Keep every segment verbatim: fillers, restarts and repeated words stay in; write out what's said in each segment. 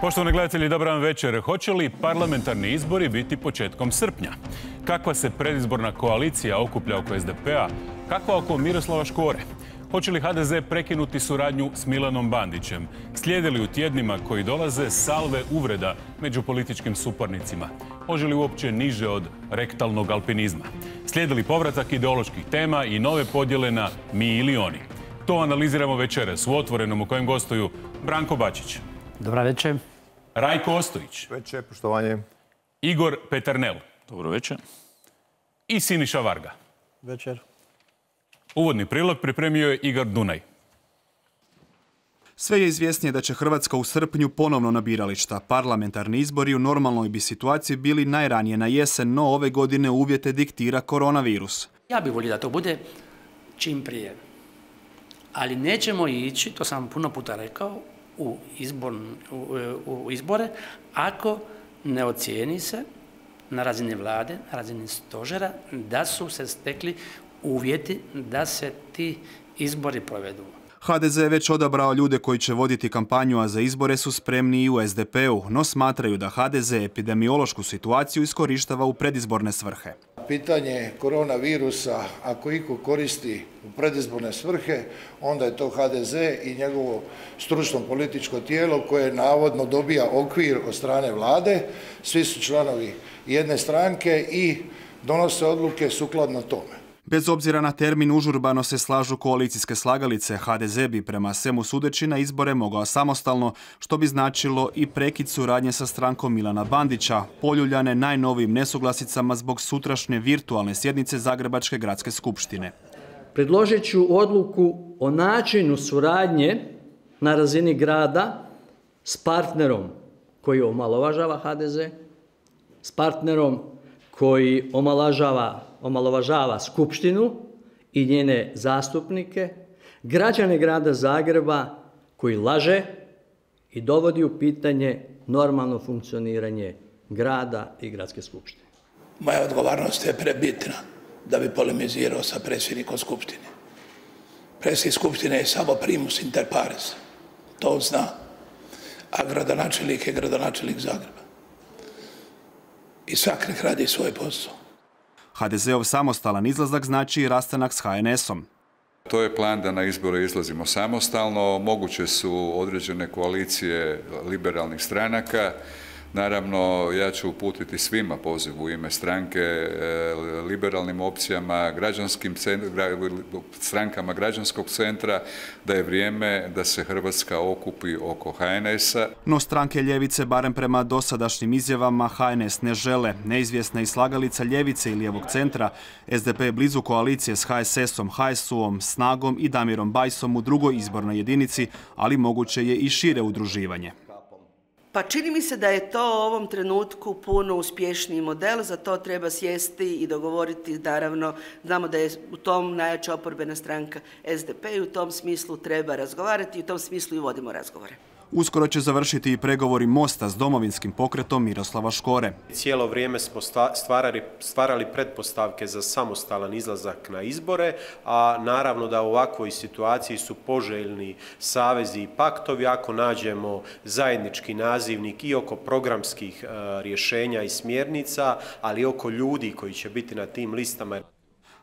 Poštovani gledatelji, dobar vam večer. Hoće li parlamentarni izbori biti početkom srpnja? Kakva se predizborna koalicija okuplja oko S D P-a? Kakva oko Miroslava Škore? Hoće li H D Z prekinuti suradnju s Milanom Bandićem? Slijede li u tjednima koji dolaze salve uvreda među političkim suparnicima? Može li uopće niže od rektalnog alpinizma? Slijede li povratak ideoloških tema i nove podjele na mi ili oni? To analiziramo večeras u Otvorenom u kojem gostuju Branko Bačić. Dobar večer. Rajko Ostojić. Večer, poštovanje. Igor Peternel. Dobro večer. I Siniša Varga. Večer. Uvodni prilog pripremio je Igor Dunaj. Sve je izvjesnije da će Hrvatska u srpnju ponovno na birališta. Parlamentarni izbori u normalnoj bi situaciji bili najranije na jesen, no ove godine uvjete diktira koronavirus. Ja bih volio da to bude čim prije. Ali nećemo ići, to sam puno puta rekao, u, izbor, u, u izbore ako ne ocijeni se na razini vlade, na razini stožera da su se stekli uvjeti da se ti izbori provedu. H D Z je već odabrao ljude koji će voditi kampanju, a za izbore su spremni i u S D P-u, no smatraju da H D Z epidemiološku situaciju iskorištava u predizborne svrhe. Pitanje koronavirusa, ako iko koristi u predizborne svrhe, onda je to H D Z i njegovo stručno političko tijelo koje navodno dobija okvir od strane vlade. Svi su članovi jedne stranke i donose odluke sukladno tome. Bez obzira na termin, užurbano se slažu koalicijske slagalice. H D Z bi prema svemu sudeći na izbore mogao samostalno, što bi značilo i prekid suradnje sa strankom Milana Bandića, poljuljane najnovijim nesuglasicama zbog sutrašnje virtualne sjednice Zagrebačke gradske skupštine. Predložit ću odluku o načinu suradnje na razini grada s partnerom koji omalovažava H D Z, s partnerom koji omalovažava omalovažava Skupštinu i njene zastupnike, građane grada Zagreba koji laže i dovodi u pitanje normalno funkcioniranje grada i gradske skupštine. Moja odgovornost je prebitna da bi polemizirao sa predsjednikom Skupštine. Predsjednik Skupštine je samo primus inter pares, to on zna, a gradonačelnik je gradonačelnik Zagreba. I svak nek radi svoj posao. H D Z-ov samostalan izlazak znači i rastanak s H N S-om. To je plan da na izbore izlazimo samostalno. Moguće su određene koalicije liberalnih stranaka. Naravno, ja ću uputiti svima poziv u ime stranke, liberalnim opcijama, građanskim strankama građanskog centra, da je vrijeme da se Hrvatska okupi oko H N S-a. No stranke ljevice, barem prema dosadašnjim izjavama, H N S ne žele. Neizvjesna i slagalica ljevice i lijevog centra, S D P je blizu koalicije s H S S-om, H S U-om, Snagom i Damirom Bajsom u drugoj izbornoj jedinici, ali moguće je i šire udruživanje. Pa čini mi se da je to u ovom trenutku puno uspješniji model, za to treba sjesti i dogovoriti, naravno, znamo da je u tom najjača oporbena stranka S D P i u tom smislu treba razgovarati i u tom smislu i vodimo razgovore. Uskoro će završiti i pregovori Mosta s domovinskim pokretom Miroslava Škore. Cijelo vrijeme smo stvarali, stvarali pretpostavke za samostalan izlazak na izbore, a naravno da u ovakvoj situaciji su poželjni savezi i paktovi ako nađemo zajednički nazivnik i oko programskih rješenja i smjernica, ali i oko ljudi koji će biti na tim listama.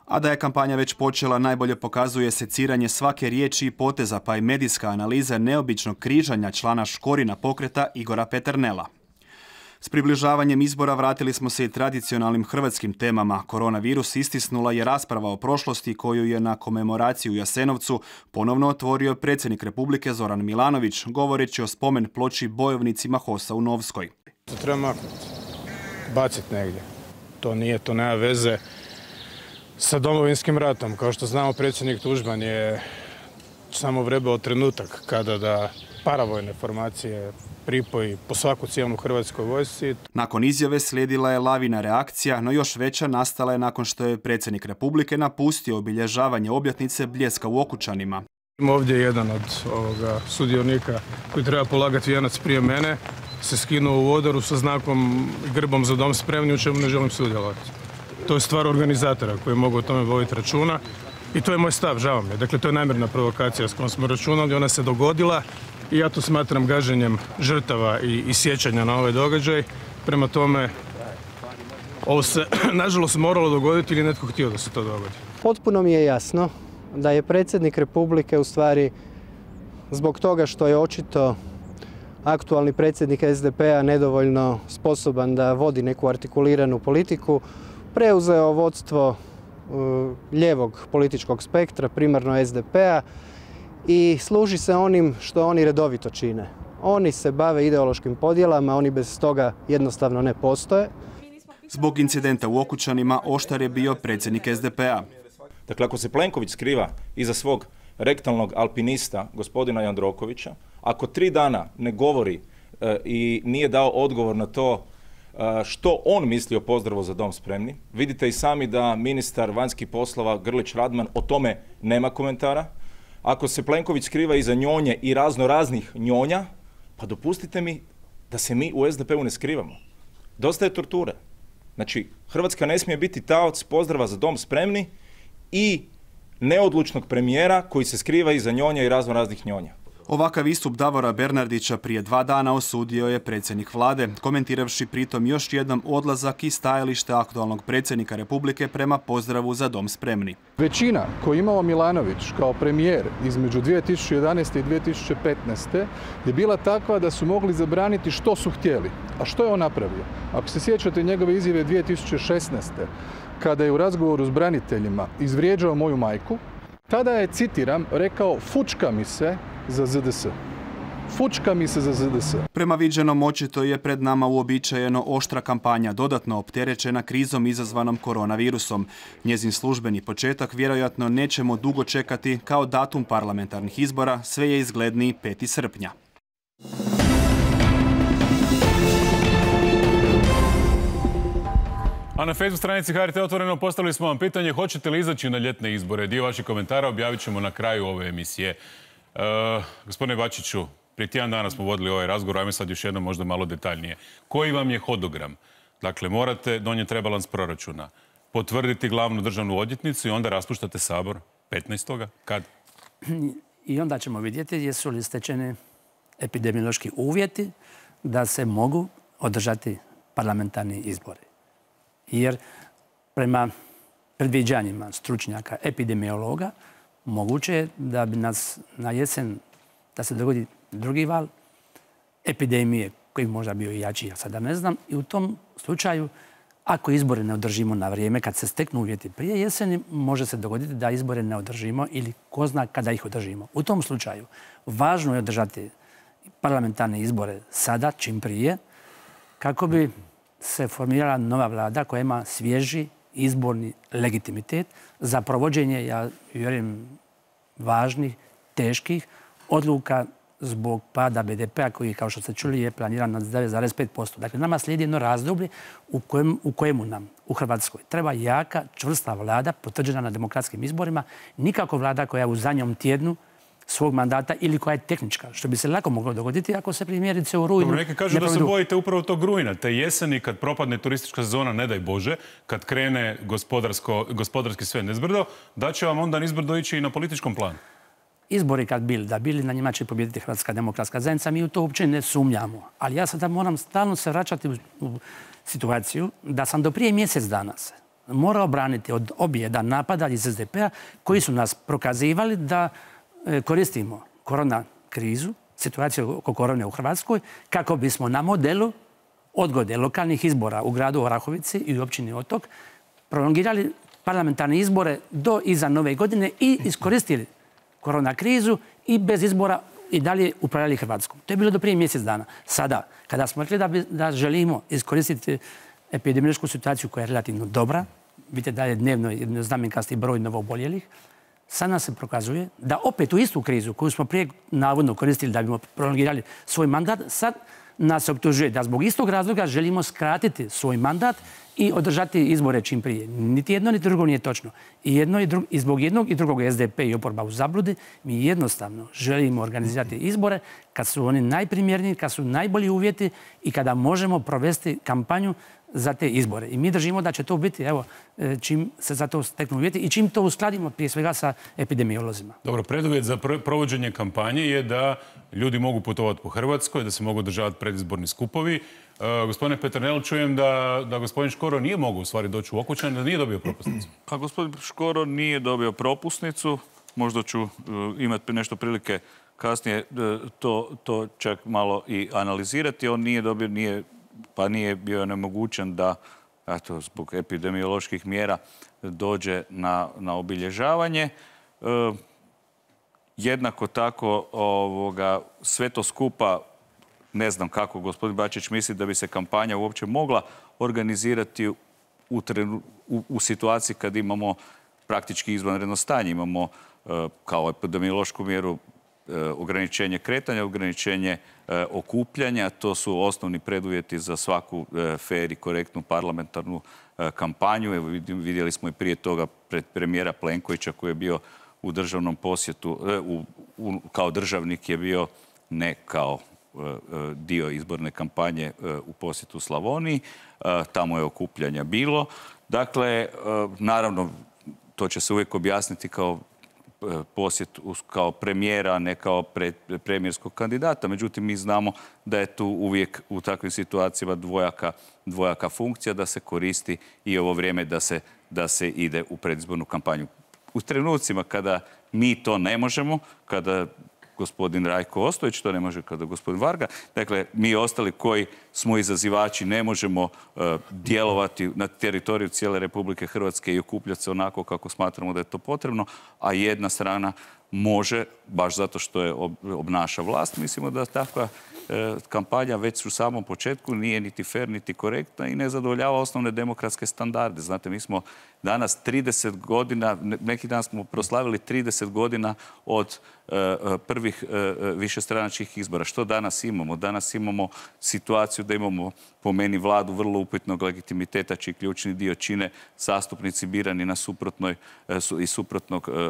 A da je kampanja već počela, najbolje pokazuje seciranje svake riječi i poteza, pa i medijska analiza neobičnog križanja člana Škorina pokreta Igora Peternela. S približavanjem izbora vratili smo se i tradicionalnim hrvatskim temama. Koronavirus istisnula je rasprava o prošlosti koju je na komemoraciji u Jasenovcu ponovno otvorio predsjednik Republike Zoran Milanović, govoreći o spomen ploči bojovnicima HOS-a u Novskoj. To treba maknuti, baciti negdje. To nije, to nema veze sa Domovinskim ratom. Kao što znamo, predsjednik Tuđman je samo vrebao trenutak kada da paravojne formacije pripoji po svaku cijenu Hrvatskoj vojsci. Nakon izjave slijedila je lavina reakcija, no još veća nastala je nakon što je predsjednik Republike napustio obilježavanje obljetnice Bljeska u Okučanima. Ovdje je jedan od ovoga sudionika koji treba polagati vijenac prije mene, se skinuo u odoru sa znakom i grbom za dom spremni, u čemu ne želim sudjelovati. To je stvar organizatora koji mogu o tome voditi računa i to je moj stav, žao mi je. Dakle, to je namjerna provokacija s kojom smo računali, ona se dogodila i ja to smatram gaženjem žrtava i, i sjećanja na ovaj događaj. Prema tome, ovo se nažalost moralo dogoditi ili netko htio da se to dogodi. Potpuno mi je jasno da je predsjednik Republike u stvari zbog toga što je očito aktualni predsjednik S D P-a nedovoljno sposoban da vodi neku artikuliranu politiku, preuzeo vodstvo lijevog političkog spektra, primarno S D P-a, i služi se onim što oni redovito čine. Oni se bave ideološkim podjelama, oni bez toga jednostavno ne postoje. Zbog incidenta u Okučanima oštar je bio predsjednik S D P-a. Dakle, ako se Plenković skriva iza svog rektalnog alpinista, gospodina Jandrokovića, ako tri dana ne govori e, i nije dao odgovor na to e, što on misli o pozdravu Za dom spremni, vidite i sami da ministar vanjskih poslova Grlić Radman o tome nema komentara. Ako se Plenković skriva iza njonje i razno raznih njonja, pa dopustite mi da se mi u S D P-u ne skrivamo. Dosta je torture. Znači, Hrvatska ne smije biti taoc pozdrava Za dom spremni i neodlučnog premijera koji se skriva iza njonja i razno raznih njonja. Ovakav istup Davora Bernardića prije dva dana osudio je predsjednik vlade, komentiravši pritom još jednom odlazak i stajalište aktualnog predsjednika Republike prema pozdravu Za dom spremni. Većina koju imao Milanović kao premijer između dvije tisuće jedanaeste i dvije tisuće petnaeste. je bila takva da su mogli zabraniti što su htjeli. A što je on napravio? Ako se sjećate njegove izjave dvije tisuće šesnaeste. kada je u razgovoru s braniteljima izvrijeđao moju majku, tada je, citiram, rekao fučka mi se za Z D S. Fučka mi se za Z D S. Prema viđenom očito je pred nama uobičajeno oštra kampanja, dodatno opterećena krizom izazvanom koronavirusom. Njezin službeni početak vjerojatno nećemo dugo čekati, kao datum parlamentarnih izbora sve je izgledniji peti srpnja. A na Facebook stranici H R T Otvoreno postavili smo vam pitanje hoćete li izaći na ljetne izbore. Dio vaših komentara objavit ćemo na kraju ove emisije. E, gospodine Bačiću, prije tjedan dana smo vodili ovaj razgovor, ajme sad još jednom možda malo detaljnije. Koji vam je hodogram? Dakle, morate donijeti rebalans proračuna, potvrditi glavnu državnu odvjetnicu i onda raspuštate Sabor petnaestoga Kad? I onda ćemo vidjeti jesu li stečeni epidemiološki uvjeti da se mogu održati parlamentarni izbori. Jer prema predviđanjima stručnjaka, epidemiologa, moguće je da bi nas na jesen, da se dogodi drugi val epidemije, koji bi možda bio i jači, ja sada ne znam. I u tom slučaju, ako izbore ne održimo na vrijeme, kad se steknu uvjeti prije jeseni, može se dogoditi da izbore ne održimo ili ko zna kada ih održimo. U tom slučaju, važno je održati parlamentarne izbore sada, čim prije, kako bi se formirala nova vlada koja ima svježi izborni legitimitet za provođenje, ja vjerujem, važnih, teških odluka zbog pada B D P-a koji, kao što ste čuli, je planiran na devet zarez pet posto. Dakle, nama slijedi jedno razdoblje u, kojem, u kojemu nam u Hrvatskoj treba jaka, čvrsta vlada potvrđena na demokratskim izborima, nikako vlada koja u zadnjem tjednu svog mandata ili koja je tehnička, što bi se lako moglo dogoditi ako se primjerice u rujnu... Dobro, neki kažu da se bojite upravo tog rujna, te jeseni kad propadne turistička sezona, ne daj Bože, kad krene gospodarski sve nezbrdo, da će vam onda nizbrdo ići i na političkom planu. Izbori kad bili, da bili, na njima će pobijediti Hrvatska demokratska zajednica, mi u to uopće ne sumnjamo. Ali ja sada moram stalno se vraćati u, u situaciju da sam do prije mjesec dana se morao braniti od objeda napada iz S D P-a koji su nas prokazivali da koristimo korona krizu, situaciju oko korone u Hrvatskoj, kako bismo na modelu odgode lokalnih izbora u gradu Orahovici i u općini Otok prolongirali parlamentarne izbore do iza nove godine i iskoristili korona krizu i bez izbora i dalje upravljali Hrvatskom. To je bilo do prije mjesec dana. Sada, kada smo rekli da, bi, da želimo iskoristiti epidemiološku situaciju koja je relativno dobra, vidite da je dnevno jednoznamenkasti broj novooboljelih, sad nas se prokazuje da opet u istu krizu koju smo prije navodno koristili da bismo prolongirali svoj mandat, sad nas se optužuje da zbog istog razloga želimo skratiti svoj mandat i održati izbore čim prije. Niti jedno, niti drugo nije točno. I, jedno i, drugo, i zbog jednog i drugog S D P i oporba u zabludi, mi jednostavno želimo organizirati izbore kad su oni najprimjerniji, kad su najbolji uvjeti i kada možemo provesti kampanju za te izbore. I mi držimo da će to biti, evo, čim se za to steknu uvjeti i čim to uskladimo prije svega sa epidemiolozima. Dobro, preduvjet za provođenje kampanje je da ljudi mogu putovati po Hrvatskoj, da se mogu održavati predizborni skupovi. Gospodine Peternel, čujem da, da gospodin Škoro nije mogao u stvari doći u Okučane, da nije dobio propusnicu. Pa gospodin Škoro nije dobio propusnicu. Možda ću uh, imati nešto prilike kasnije uh, to, to čak malo i analizirati. On nije dobio, nije, pa nije bio nemogućen da, eto, zbog epidemioloških mjera dođe na, na obilježavanje. Uh, jednako tako ovoga, sve to skupa, ne znam kako gospodin Bačić misli da bi se kampanja uopće mogla organizirati u, trenu, u, u situaciji kad imamo praktički izvanredno stanje. Imamo uh, kao epidemiološku mjeru uh, ograničenje kretanja, ograničenje uh, okupljanja. To su osnovni preduvjeti za svaku uh, fer i korektnu parlamentarnu uh, kampanju. Evo, vidjeli smo i prije toga pred premijera Plenkovića koji je bio u državnom posjetu, uh, u, u, kao državnik je bio ne kao dio izborne kampanje u posjetu Slavoniji. Tamo je okupljanja bilo. Dakle, naravno, to će se uvijek objasniti kao posjet kao premijera, a ne kao premijerskog kandidata. Međutim, mi znamo da je tu uvijek u takvim situacijama dvojaka, dvojaka funkcija, da se koristi i ovo vrijeme da se, da se ide u predizbornu kampanju. U trenucima kada mi to ne možemo, kada gospodin Rajko Ostojić, to ne može kada gospodin Varga. Dakle, mi ostali koji smo izazivači ne možemo uh, djelovati na teritoriju cijele Republike Hrvatske i okupljati se onako kako smatramo da je to potrebno, a jedna strana može, baš zato što je obnaša vlast. Mislimo da takva e, kampanja već u samom početku nije niti fer, niti korektna i ne zadovoljava osnovne demokratske standarde. Znate, mi smo danas trideset godina, neki dan smo proslavili trideset godina od e, prvih e, višestranačkih izbora. Što danas imamo? Danas imamo situaciju da imamo po meni vladu vrlo upitnog legitimiteta, čiji ključni dio čine zastupnici birani na suprotnoj e, su, i suprotnog e,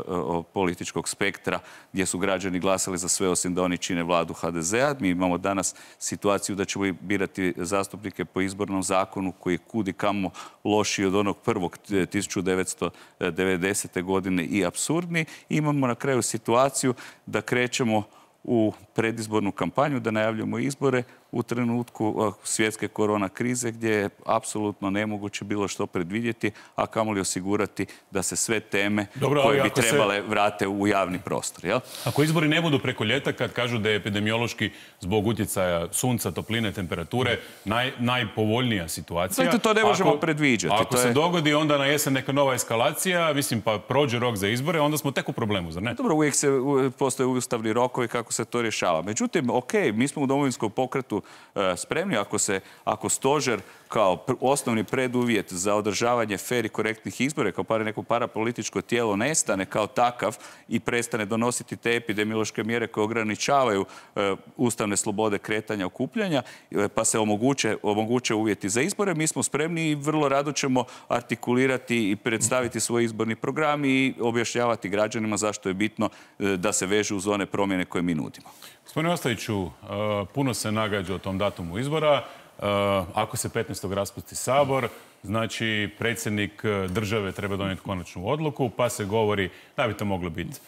političkog spektra, gdje su građani glasali za sve osim da oni čine vladu ha de zea. Mi imamo danas situaciju da ćemo birati zastupnike po izbornom zakonu koji je kudi kamo lošiji od onog prvog tisuću devetsto devedesete. godine i apsurdni. Imamo na kraju situaciju da krećemo u predizbornu kampanju, da najavljamo izbore u trenutku svjetske korona krize gdje je apsolutno nemoguće bilo što predvidjeti, a kamoli osigurati da se sve teme Dobro, koje bi trebale se... vrate u javni prostor. Jel? Ako izbori ne budu preko ljeta, kad kažu da je epidemiološki zbog utjecaja sunca, topline, temperature naj, najpovoljnija situacija. Zato to ne možemo ako, predviđati. Ako to se je... dogodi onda na jesen neka nova eskalacija, mislim pa prođe rok za izbore, onda smo tek u problemu, zar ne? Dobro, uvijek se postoje ustavni rokovi kako se to rješava. Međutim, ok, mi smo u Domovinskom pokretu spremni ako se, ako stožer kao osnovni preduvjet za održavanje fer i korektnih izbora, kao par neko parapolitičko tijelo nestane kao takav i prestane donositi te epidemiološke mjere koje ograničavaju e, ustavne slobode kretanja, okupljanja, e, pa se omoguće, omoguće uvjeti za izbore, mi smo spremni i vrlo rado ćemo artikulirati i predstaviti svoj izborni program i objašnjavati građanima zašto je bitno e, da se vežu uz one promjene koje mi nudimo. Gospodine Ostojiću, puno se nagađa o tom datumu izbora. Ako se petnaestog raspusti Sabor, znači predsjednik države treba donijeti konačnu odluku, pa se govori da bi to moglo biti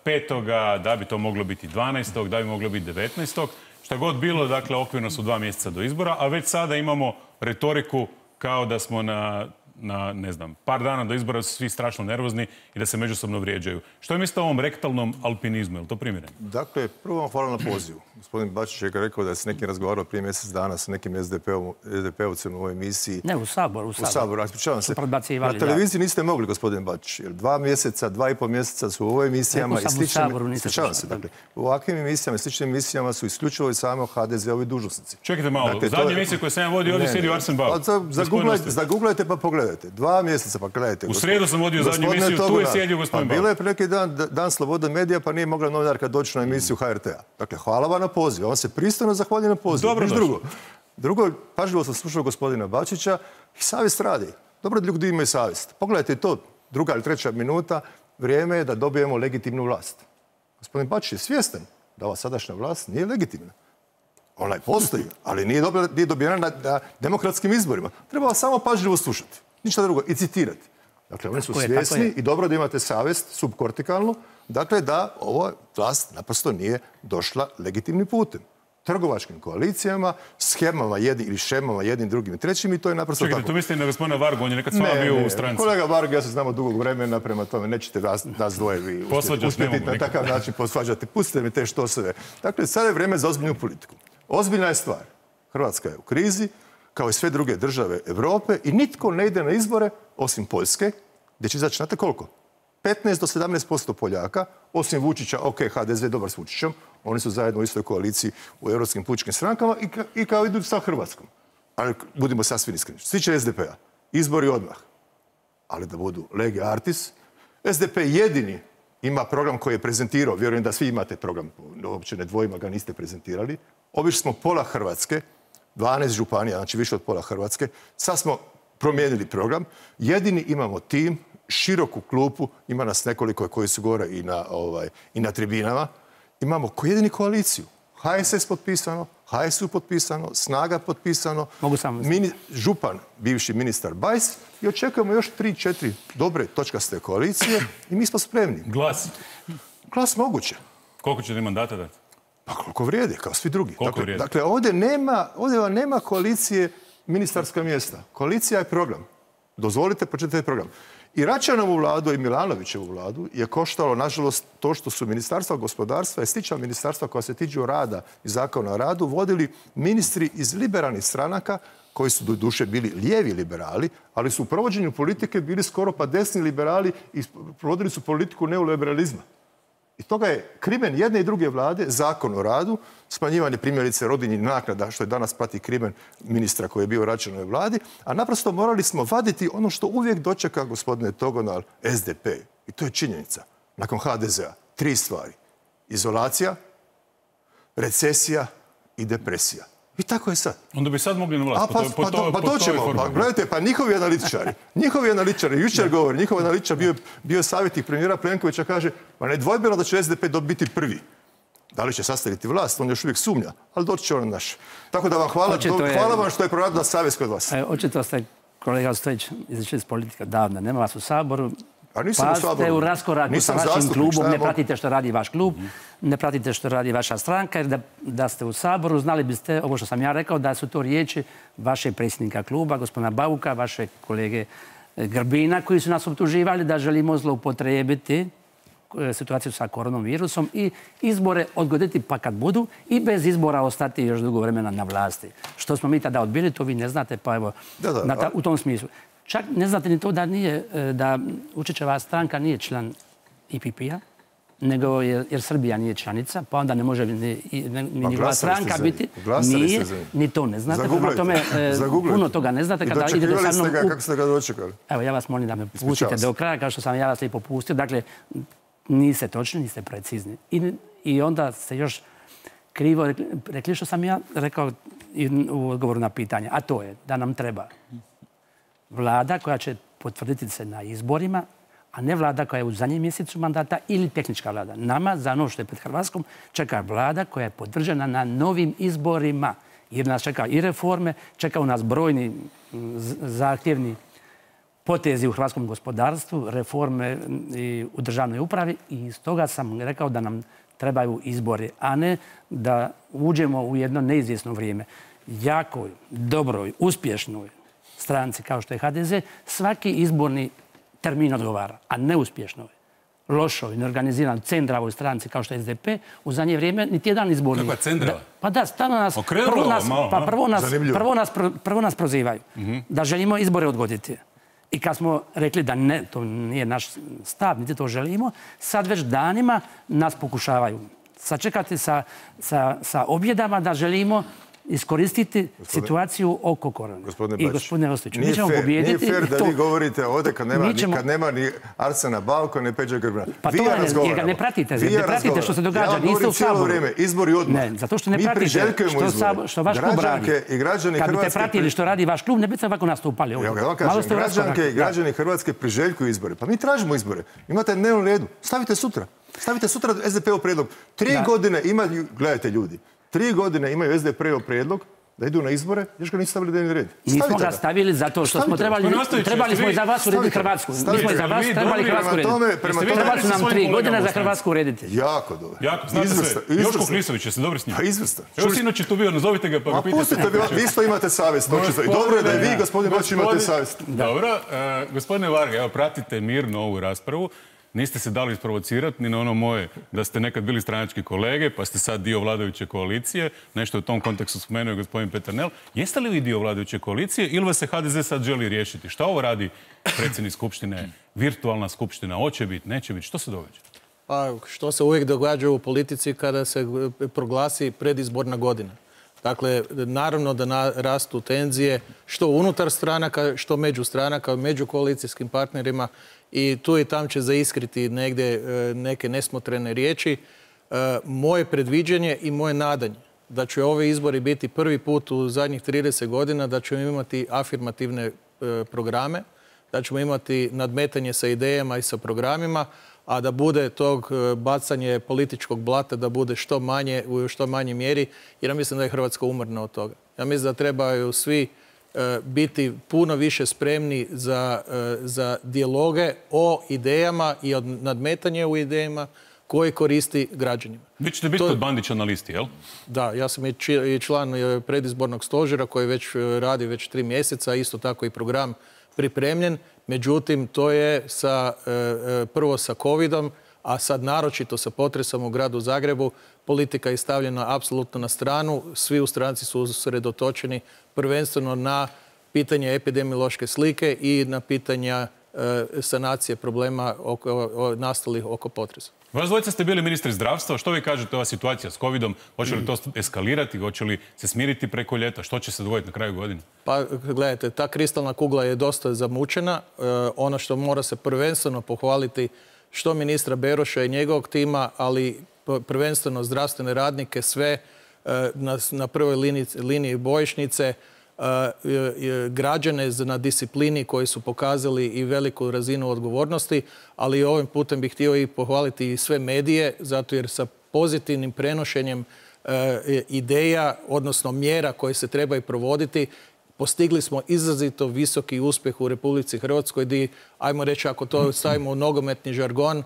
petoga, da bi to moglo biti dvanaestog, da bi moglo biti devetnaestog. Šta god bilo, dakle, okvirno su dva mjeseca do izbora, a već sada imamo retoriku kao da smo na... na, ne znam, par dana do izbora su svi strašno nervozni i da se međusobno vrijeđaju. Što je mislite o ovom rektalnom alpinizmu? Je li to primjereno? Dakle, prvo vam hvala na pozivu. Gospodin Bačić je rekao da je s nekim razgovarao prije mjesec dana s nekim es de pe ovcem u ovoj emisiji. Ne, u Saboru. U Saboru, Saboru ispričavam se. Na televiziji niste mogli, gospodin Bačić, jer dva mjeseca, dva i pol mjeseca su u ovoj emisijama i sličnim... Ispričavam se, dakle. U ovakvim emisijama i sličnim emisijama su isključivo i samo ha de zeovi dužnosnici. Čekajte malo, dakle, u zadnje je... emisije koje sam ja vodio, ovdje sjedi Arsen Bauk. Zaguglajte pa pogledajte. Dva mjeseca pa gledajte. U srijedu sam vodio zadnju emisiju, tu je sjedio gospodin Bauk. Bilo je pre neki dan, dan slobode medija, pa nije mogla novinarka doći na emisiju ha er te a. Dakle, hvala vam na poziv. On se pristojno zahvalja na poziv. Dobro, drugo. Drugo, pažljivo sam slušao gospodina Bačića i savjest radi. Dobro da ljudi imaju savjest. Pogledajte to, druga ili treća minuta, vrijeme je da dobijemo legitimnu vlast. Gospodin Bačić je svjestan da ova sadašnja vlast nije legitimna. Ona postoji, ali nije, dobila, nije dobijena na, na demokratskim izborima. Treba samo pažljivo slušati. Ništa drugo. I citirati. Dakle, oni su tako svjesni je, i dobro da imate savjest subkortikalnu. Dakle, da ova vlast naprosto nije došla legitimnim putem. Trgovačkim koalicijama, schemama jednim ili šemama jednim, drugim i trećim i to je naprosto Čekajte, tako. tu mislite na gospodina Vargu, on je nekad s vama bio ne, u stranci. Kolega Varg, ja se znamo dugog vremena, prema tome nećete nas, nas dvoje vi uspjeti, uspjeti na takav način posvađati. Pustite mi te štoseve. Dakle, sada je vrijeme za ozbiljnu politiku. Ozbiljna je stvar. Hrvatska je u krizi, kao i sve druge države Europe i nitko ne ide na izbore, osim Poljske, gdje će izaći, znate koliko? petnaest do sedamnaest posto Poljaka, osim Vučića, ok, ha de ze dobar s Vučićem, oni su zajedno u istoj koaliciji u europskim pučkim strankama i, ka, i kao idu sa Hrvatskom. Ali budimo sasvim iskreni. Što se tiče es de pea, izbori odmah. Ali da budu lege artis. es de pe jedini ima program koji je prezentirao, vjerujem da svi imate program, uopće ne dvojima ga niste prezentirali. Obišli smo pola Hrvatske, dvanaest županija, znači više od pola Hrvatske. Sad smo promijenili program. Jedini imamo tim, široku klupu, ima nas nekoliko koji su gore i na, ovaj, i na tribinama. Imamo ko jedini koaliciju. ha es es potpisano, ha es u potpisano, Snaga potpisano, mini, župan, bivši ministar Bajs i očekujemo još tri, četiri dobre točkaste koalicije i mi smo spremni. Glas? Glas moguće. Koliko ćete mandata dati? Pa koliko vrijede, kao svi drugi. Koliko dakle, vrijede? Dakle, ovdje nema, ovdje vam nema koalicije ministarska mjesta. Koalicija je program. Dozvolite, pročitajte program. I Račanovu vladu i Milanovićevu vladu je koštalo, nažalost, to što su ministarstva gospodarstva i slična ministarstva koja se tiču rada i zakona o radu vodili ministri iz liberalnih stranaka koji su do duše bili lijevi liberali, ali su u provođenju politike bili skoro pa desni liberali i provodili su politiku neoliberalizma. I toga je krimen jedne i druge vlade, zakon o radu, smanjivanje primjerice rodiljnih naknada, što je danas prati krimen ministra koji je bio u Račanovoj vladi, a naprosto morali smo vaditi ono što uvijek dočeka, gospodine Togonal, es de pe. I to je činjenica. Nakon ha de zea. Tri stvari. Izolacija, recesija i depresija. I tako je sad. Onda bi sad mogli na vlast. A pa, po to, pa, po pa to, doćemo, pa gledajte, pa njihovi analitičari, njihovi analitičari, jučer govori, njihov analitičar bio, bio savjetnik premijera Plenkovića, kaže, pa nedvojbeno da će es de pe biti prvi. Da li će sastaviti vlast, on još uvijek sumnja, ali doći će on naš. Tako da vam hvala, do, je, hvala vam što je proradila savjest kod vas. Očito ste, kolega Stojić, izašli iz politika davno, nema vas u Saboru. A nisam pa u Saboru. Ste u raskoraku nisam sa vašim klubom, ne pratite što radi vaš klub, mm. ne pratite što radi vaša stranka, jer da, da ste u Saboru, znali biste, ovo što sam ja rekao, da su to riječi vašeg predsjednika kluba, gospodina Bauka, vaše kolege Grbina, koji su nas optuživali da želimo zloupotrijebiti situaciju sa koronavirusom i izbore odgoditi pa kad budu i bez izbora ostati još dugo vremena na vlasti. Što smo mi tada odbili, to vi ne znate, pa evo, da, da, na ta, u tom smislu. Čak ne znate ni to da nije, da Vučićeva stranka nije član i pe pe-a, nego je, jer Srbija nije članica, pa onda ne može ni, ni, ni njegova stranka biti. Nije, ni to ne znate. Prema tome, e, puno toga ne znate. Kada idete sa mnom u... Kako ste ga dočekali? Evo, ja vas molim da me pustite do kraja, kao što sam ja vas i popustio. Dakle, niste točni, niste precizni. I, i onda ste još krivo rekli, rekli što sam ja rekao u odgovoru na pitanje. A to je da nam treba vlada koja će potvrditi se na izborima, a ne vlada koja je u zadnjem mjesecu mandata ili tehnička vlada. Nama, za ono što je pred Hrvatskom, čeka vlada koja je podržana na novim izborima. Jer nas čeka i reforme, čekaju nas brojni zahtjevni potezi u hrvatskom gospodarstvu, reforme i u državnoj upravi i iz toga sam rekao da nam trebaju izbori, a ne da uđemo u jedno neizvjesno vrijeme. Jakoj, dobroj, uspješnoj stranci kao što je ha de ze, svaki izborni termin odgovara, a neuspješnoj, lošoj, neorganiziranoj, cendravoj stranci kao što je es de pe, u zadnje vrijeme niti jedan izborni... Kakva cendrava? Pa da, stalno nas... Prvo nas, pa prvo nas, prvo nas, prvo nas prozivaju mm-hmm. da želimo izbore odgoditi. I kad smo rekli da ne, to nije naš stav, niti to želimo, sad već danima nas pokušavaju sačekati sa, sa, sa objedama da želimo iskoristiti gospodine, situaciju oko korone. Gospodine I gospodine Ostojiću, mi ćemo pobijediti. Nije fair da to... vi govorite ovdje kad nema, ćemo... kad nema ni Arsena Bauka, ni Peđa Grbina. Pa vi to ja je, jer ga ne pratite. Ne pratite što se događa. Ja niste u Saboru. Vrijeme, izbori odmah. Ne, zato što ne pratite što, Sab... što vaš klub radi. I građani kad Hrvatske... biste pratili što radi vaš klub, ne biste ovako nastupali. Ja vam kažem, građanke i građani Hrvatske priželjkuju izbore. Pa mi tražimo izbore. Imate dnevnom redu. Stavite sutra. Stavite sutra es de pe-ov prijedlog. Tri godine imaju, gledajte ljudi, Tri godine imaju S D P-ov prijedlog da idu na izbore, još ga nisu stavili dnevni red. Nismo ga stavili zato što smo trebali, trebali smo i za vas urediti Hrvatsku. Mi smo i za vas trebali Hrvatsku urediti. Trebali su nam tri godine za Hrvatsku urediti. Jako dobro. Jako, znate se, Joško Klisović, jeste dobri s njim? Pa izvrstan. Evo sinoć je tu bio, nazovite ga pa ga pitajte. A pustite, vi isto imate savjest. I dobro je da i vi, gospodin Bačić, imate savjest. Dobro, gospodine Varga, evo pratite mirno ovu raspravu. Niste se dali isprovocirati ni na ono moje da ste nekad bili stranački kolege, pa ste sad dio vladajuće koalicije. Nešto u tom kontekstu spomenuo je gospodin Peternel. Jeste li vi dio vladajuće koalicije ili vas se H D Z sad želi riješiti? Šta ovo radi predsjednik Skupštine? Virtualna skupština, hoće biti, neće biti? Što se događa? Pa, što se uvijek događa u politici kada se proglasi predizborna godina. Dakle, naravno da rastu tenzije što unutar stranaka, što među stranaka, među koalicijskim partnerima i tu i tam će zaiskriti negdje neke nesmotrene riječi. Moje predviđenje i moje nadanje da će ovi izbori biti prvi put u zadnjih trideset godina da ćemo imati afirmativne programe, da ćemo imati nadmetanje sa idejama i sa programima, a da bude tog bacanje političkog blata da bude što manje, u što manjoj mjeri, jer ja mislim da je Hrvatska umorna od toga. Ja mislim da trebaju svi biti puno više spremni za, za dijaloge o idejama i od nadmetanje u idejama koji koristi građanima. Vi ćete biti kod Bandića na listi, jel? Da, ja sam i član predizbornog stožera koji već radi već tri mjeseca, isto tako i program pripremljen. Međutim, to je sa, prvo sa covidom, a sad naročito sa potresom u gradu Zagrebu. Politika je stavljena apsolutno na stranu. Svi u stranci su usredotočeni prvenstveno na pitanje epidemiološke slike i na pitanja sanacije problema oko, nastalih oko potresa. Vas dvojica ste bili ministri zdravstva. Što vi kažete ova situacija s covidom? Hoće li to eskalirati? Hoće li se smiriti preko ljeta? Što će se dogoditi na kraju godine? Pa gledajte, ta kristalna kugla je dosta zamučena. E, ono što mora se prvenstveno pohvaliti što ministra Beroša i njegovog tima, ali prvenstveno zdravstvene radnike, sve e, na, na prvoj liniji, liniji bojišnice, građane na disciplini koji su pokazali i veliku razinu odgovornosti, ali ovim putem bih htio i pohvaliti i sve medije, zato jer sa pozitivnim prenošenjem ideja, odnosno mjera koje se trebaju provoditi, postigli smo izrazito visoki uspjeh u Republici Hrvatskoj, gdje, ajmo reći, ako to stavimo u nogometni žargon,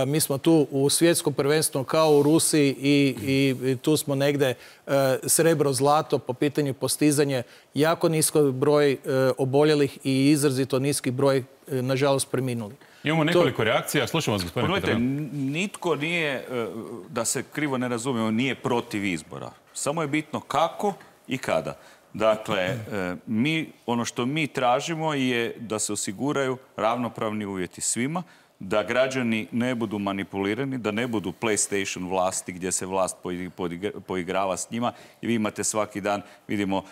mi smo tu u svjetskom prvenstvu kao u Rusiji i, i tu smo negdje srebro zlato po pitanju postizanja jako nisko broj oboljelih i izrazito niski broj, nažalost, preminuli. Imamo nekoliko to... reakcija. Slušamo vas, gospodine Petrel. Nitko nije, da se krivo ne razumijemo, nije protiv izbora. Samo je bitno kako i kada. Dakle, mi, ono što mi tražimo je da se osiguraju ravnopravni uvjeti svima, da građani ne budu manipulirani, da ne budu PlayStation vlasti gdje se vlast poigrava s njima. I vi imate svaki dan, vidimo,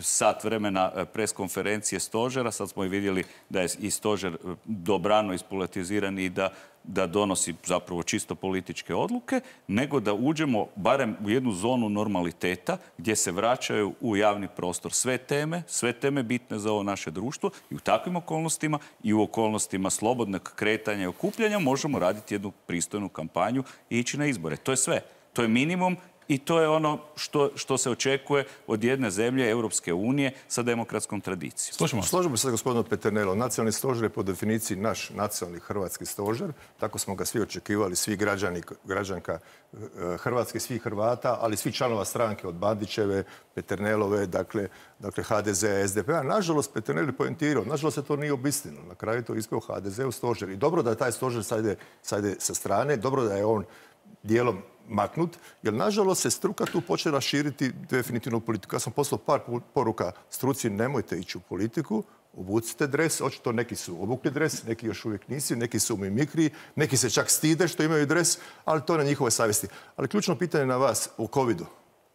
sat vremena preskonferencije stožera. Sad smo i vidjeli da je i stožer dobrano ispolitiziran i da da donosi zapravo čisto političke odluke, nego da uđemo barem u jednu zonu normaliteta gdje se vraćaju u javni prostor sve teme, sve teme bitne za ovo naše društvo i u takvim okolnostima i u okolnostima slobodnog kretanja i okupljanja možemo raditi jednu pristojnu kampanju i ići na izbore. To je sve. To je minimum i to je ono što, što se očekuje od jedne zemlje Europske unije sa demokratskom tradicijom. Slušamo. Slažemo se s gospodinom Peternelom. Nacionalni stožer je po definiciji naš nacionalni hrvatski stožer. Tako smo ga svi očekivali, svi građani, građanka Hrvatske, svi Hrvata, ali svi članova stranke od Bandićeve, Peternelove, dakle, dakle H D Z, S D P-a. Nažalost, Peternel je poentirao. Nažalost, se to nije obistinilo. Na kraju to ispeo H D Z u stožer. I dobro da je taj stožer sad ide, sad ide sa strane, dobro da je on dijelom maknut, jer nažalost se struka tu počela širiti definitivno u politiku. Ja sam poslao par poruka struci, nemojte ići u politiku, obucite dres, očito neki su obukli dres, neki još uvijek nisi, neki su u mimikriji, neki se čak stide što imaju dres, ali to je na njihove savjesti. Ali ključno pitanje na vas o covidu,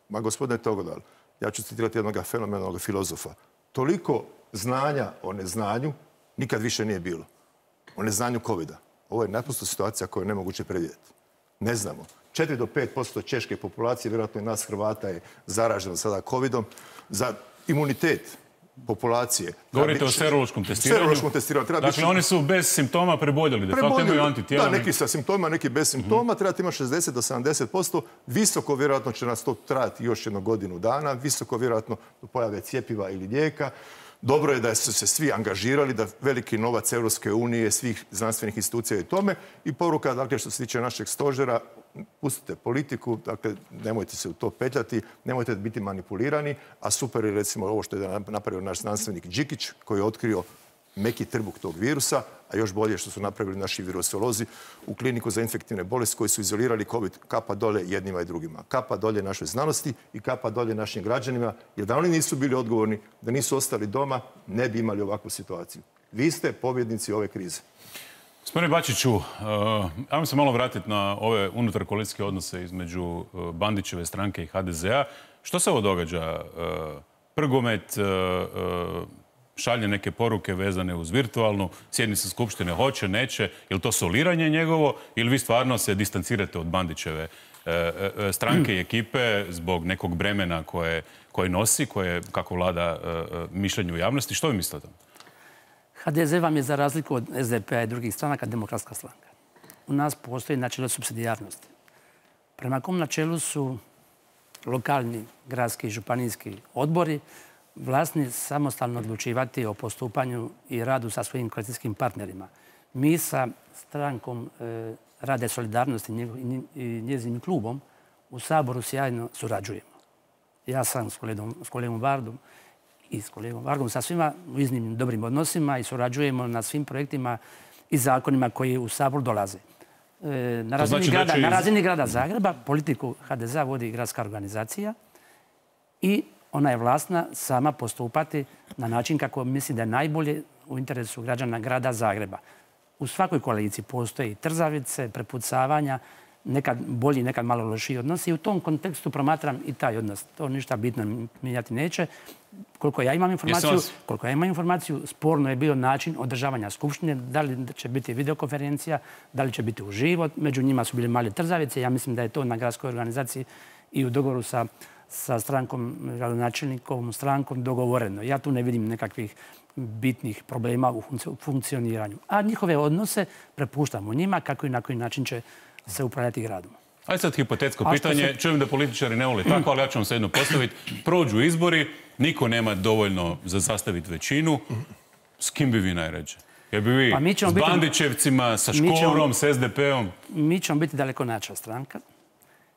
ma gospodine Togodal, ja ću citirati jednog fenomenalnog filozofa. Toliko znanja o neznanju nikad više nije bilo. O neznanju covida. Ovo je naprosto situacija koju je nemoguće predvidjeti. Ne znamo. četiri do pet posto češke populacije, vjerojatno i nas Hrvata, je zaraženo sada covidom. Za imunitet populacije. Govorite o serološkom testiranju? Serološkom testiranju. Dakle, biti... oni su bez simptoma preboljeli, de facto imaju antitijela. Da, neki sa simptomima, neki bez simptoma, mm-hmm. trebate imati šezdeset do sedamdeset posto. Visoko vjerojatno će nas to trajati još jednu godinu dana, visoko vjerojatno do pojave cjepiva ili lijeka. Dobro je da su se svi angažirali, da veliki novac Europske unije, svih znanstvenih institucija i tome. I poruka, dakle, što se tiče našeg stožera, pustite politiku, dakle, nemojte se u to petljati, nemojte biti manipulirani, a super je recimo ovo što je napravio naš znanstvenik Đikić, koji je otkrio meki trbuh tog virusa, a još bolje što su napravili naši virusolozi u kliniku za infektivne bolesti koji su izolirali COVID. Kapa dolje jednima i drugima. Kapa dolje našoj znanosti i kapa dolje našim građanima, jer da oni nisu bili odgovorni, da nisu ostali doma, ne bi imali ovakvu situaciju. Vi ste pobjednici ove krize. Gospodine Bačiću, uh, ajmo se malo vratiti na ove unutar koalicijske odnose između uh, Bandićeve stranke i ha de zea. Što se ovo događa? Uh, Prgomet uh, uh, šalje neke poruke vezane uz virtualnu sjednicu skupštine, hoće, neće. Je li to soliranje njegovo ili vi stvarno se distancirate od Bandićeve uh, uh, stranke i ekipe zbog nekog bremena koje, koje nosi, koje, kako vlada uh, mišljenje u javnosti? Što vi mislite o tom? ha de ze vam je za razliku od es de pe a i drugih stranaka demokratska stranka. U nas postoji načelo supsidijarnosti. Prema kom načelu su lokalni, gradski i županijski odbori vlasni samostalno odlučivati o postupanju i radu sa svojim koalicijskim partnerima. Mi sa strankom e, Rade solidarnosti i njezinim klubom u Saboru sjajno surađujemo. Ja sam s kolegom, s kolegom Vardom i s kolegom Vargom sa svima u iznimnim dobrim odnosima i surađujemo na svim projektima i zakonima koji u Sabor dolaze. E, na, razini znači grada, iz... na razini grada Zagreba politiku ha de zea vodi gradska organizacija i ona je vlasna sama postupati na način kako misli da je najbolje u interesu građana grada Zagreba. U svakoj koaliciji postoji trzavice, prepucavanja, nekad bolji, nekad malo lošiji odnosi i u tom kontekstu promatram i taj odnos. To ništa bitno mijenjati neće. Koliko ja imam informaciju, koliko ja imam informaciju, sporno je bio način održavanja skupštine, da li će biti videokonferencija, da li će biti uživo. Među njima su bile male trzavice. Ja mislim da je to na gradskoj organizaciji i u dogovoru sa, sa strankom, gradonačelnikovom strankom dogovoreno. Ja tu ne vidim nekakvih bitnih problema u funkcioniranju. A njihove odnose prepuštamo njima kako i na koji način će se upravljati gradom. Ajde sad hipotetsko pitanje. Se... Čujem da političari ne vole tako, ali ja ću vam se jedno postaviti. Prođu izbori, niko nema dovoljno za sastaviti većinu. S kim bi vi najređe? Jer bi vi pa s Bandićevcima, biti... sa Škorom, s es de pe om? Mi ćemo biti daleko nača stranka.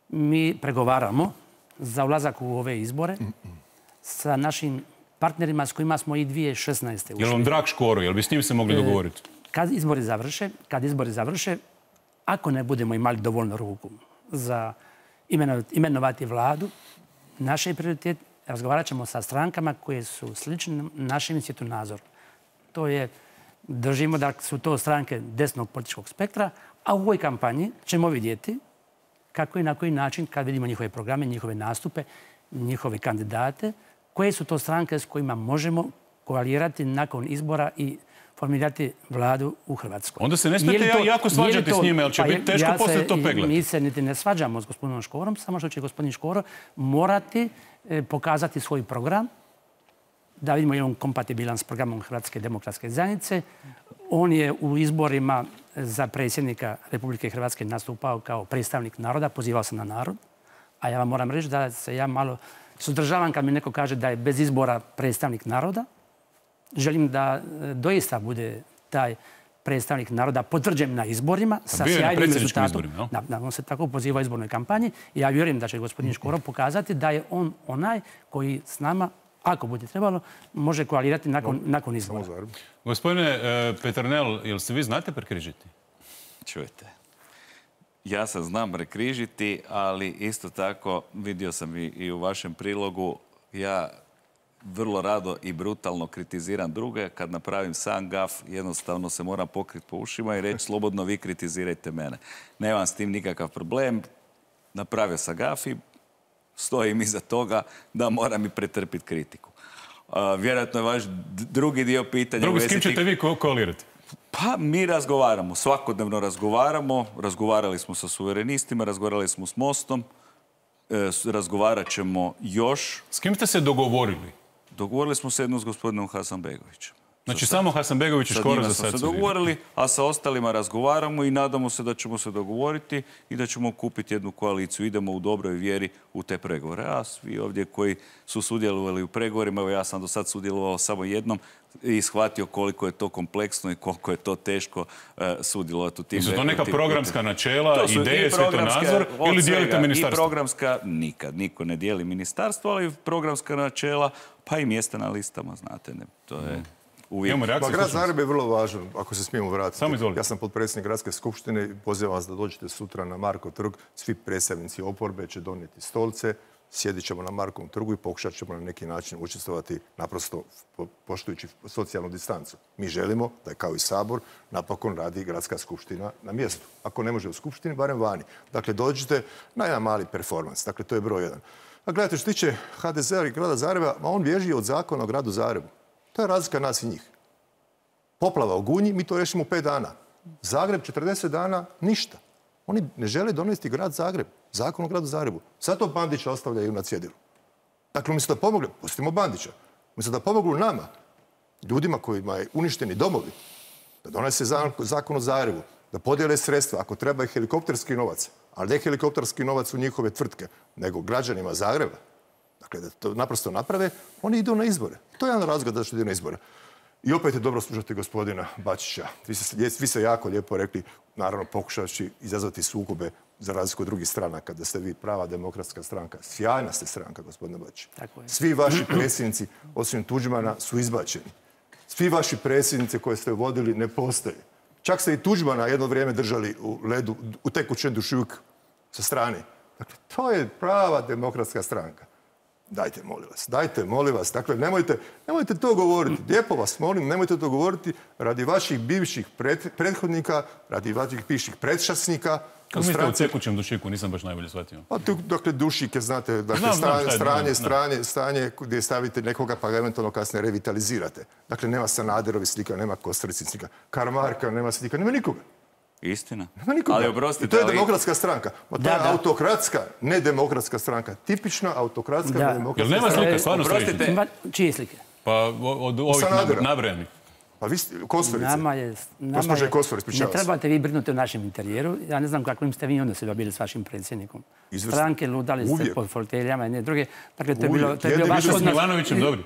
Mi pregovaramo za ulazak u ove izbore sa našim partnerima s kojima smo i dvije tisuće šesnaeste ušli. Je li vam drag Škoro? Je li bi s njim se mogli dogovoriti? Kad izbori završe, kad izbori završe, ako ne budemo imali dovoljno ruku za imenovati vladu, naš je prioritet, razgovarat ćemo sa strankama koje su slične našem svjetonazoru. To je, držimo da su to stranke desnog političkog spektra, a u ovoj kampanji ćemo vidjeti kako i na koji način, kad vidimo njihove programe, njihove nastupe, njihove kandidate, koje su to stranke s kojima možemo koalirati nakon izbora i formirati vladu u Hrvatskoj. Onda se ne smijete to, jako svađati s njime, ali će pa biti teško ja poslije to peglati. Mi se niti ne svađamo s gospodinom Škorom, samo što će gospodin Škoro morati e, pokazati svoj program, da vidimo je on kompatibilan s programom Hrvatske demokratske zajednice. On je u izborima za predsjednika Republike Hrvatske nastupao kao predstavnik naroda, pozivao se na narod, a ja vam moram reći da se ja malo suzdržavam kad mi neko kaže da je bez izbora predstavnik naroda. Želim da doista bude taj predstavnik naroda potvrđen na izborima sa sjajnim rezultatom. On se tako poziva u izbornoj kampanji i ja vjerujem da će gospodin Škoro pokazati da je on onaj koji s nama, ako bude trebalo, može koalirati nakon, nakon izbora. Gospodine Peternel, jel se vi znate prekrižiti? Čujte, ja se znam prekrižiti, ali isto tako vidio sam i, i u vašem prilogu, ja vrlo rado i brutalno kritiziram druge. Kad napravim sam gaf, jednostavno se moram pokriti po ušima i reći slobodno vi kritizirajte mene. Nemam s tim nikakav problem. Napravio sam gaf i stojim iza toga da moram i pretrpiti kritiku. Uh, vjerojatno je vaš drugi dio pitanja... Drugi, s kim ćete vi ko koalirati? Pa mi razgovaramo, svakodnevno razgovaramo. Razgovarali smo sa suverenistima, razgovarali smo s Mostom. E, razgovarat ćemo još. S kim ste se dogovorili? Dogovorili smo se jedno s gospodinom Hasanbegovićem. Znači samo Hasanbegović i Škoro za sad se dogovorili, a sa ostalima razgovaramo i nadamo se da ćemo se dogovoriti i da ćemo kupiti jednu koaliciju. Idemo u dobroj vjeri u te pregovore. A svi ovdje koji su sudjelovali u pregovorima, evo ja sam do sad sudjelovao samo jednom i shvatio koliko je to kompleksno i koliko je to teško uh, sudjelovati u tim. Su to neka programska načela, ideje, svjetonazor ili dijelite ministarstvo? I programska, nikad, niko ne dijeli ministarstvo, ali programska načela, pa i mjesta na listama, znate, ne, to je... Mm. Pa grad Zagreb je vrlo važan, ako se smijemo vratiti. Ja sam potpredsjednik gradske skupštine i pozivam vas da dođete sutra na Markov trg. Svi predstavnici oporbe će donijeti stolce, sjedit ćemo na Markovom trgu i pokušat ćemo na neki način učestvovati naprosto poštujući socijalnu distancu. Mi želimo da je kao i Sabor napokon radi gradska skupština na mjestu. Ako ne može u skupštini, barem vani. Dakle, dođite na jedan mali performans. Dakle, to je broj jedan. A gledajte, što tiče ha de zea i grada Zagreba, on bježi od zakona o gradu Zagrebu. To je razlika nas i njih. Poplava u Gunji, mi to rešimo u pet dana. Zagreb četrdeset dana, ništa. Oni ne žele donesti grad Zagreb, zakon o gradu Zagrebu. Zato Bandića ostavljaju na cjedilu. Dakle, umjesto da pomogli, pustimo Bandića, umjesto da pomoglu nama, ljudima kojima je uništeni domovi, da donese zakon o Zagrebu, da podijele sredstva, ako treba i helikopterski novac, ali ne helikopterski novac u njihove tvrtke, nego građanima Zagreba. Dakle, da to naprosto naprave, oni idu na izbore. To je jedan razlog da što idu na izbore. I opet je dobro slušati gospodina Bačića. Vi ste, vi ste jako lijepo rekli, naravno pokušavajući izazvati sukobe za razliku od drugih stranaka, da ste vi prava demokratska stranka. Sjajna ste stranka, gospodine Bačić. Svi vaši predsjednici, osim Tuđmana, su izbačeni. Svi vaši predsjednici koje ste vodili ne postoje. Čak ste i Tuđmana jedno vrijeme držali u ledu, u tekućem dušuku sa strane. Dakle, to je prava demokratska stranka. Dajte, molim vas, dajte, molim vas. Dakle, nemojte, nemojte to govoriti. Lijepo vas molim, nemojte to govoriti radi vaših bivših prethodnika, radi vaših bivših predšasnika. Kako mislite u tekućem dušiku? Nisam baš najbolje shvatio. Pa, dakle, dušik je, znate, dakle, stranje, stranje, stranje gdje stavite nekoga pa ga eventualno kasnije revitalizirate. Dakle, nema Sanaderovi slika, nema Kosturici slika, Karamarka nema slika, nema nikoga. Istina. Nema nikoga. Ali oprostite, I to je demokratska stranka. Ma to je autokratska, nedemokratska stranka. Tipična autokratska, nedemokratska stranka. Jel nema slika, stvarno Oprostite, čije slike? Pa od ovih nabrojanih. Pa vi ste, Kostorice. Nama je... Gospođe Kostor, ispričavam se. Ne trebate vi brinuti o našem interijeru. Ja ne znam kakvim ste vi onda se dobili s vašim predsjednikom. Stranke ludali ste po foteljama i ne druge. Dakle, to je bilo... Jedni bili s Milanovićem dobri.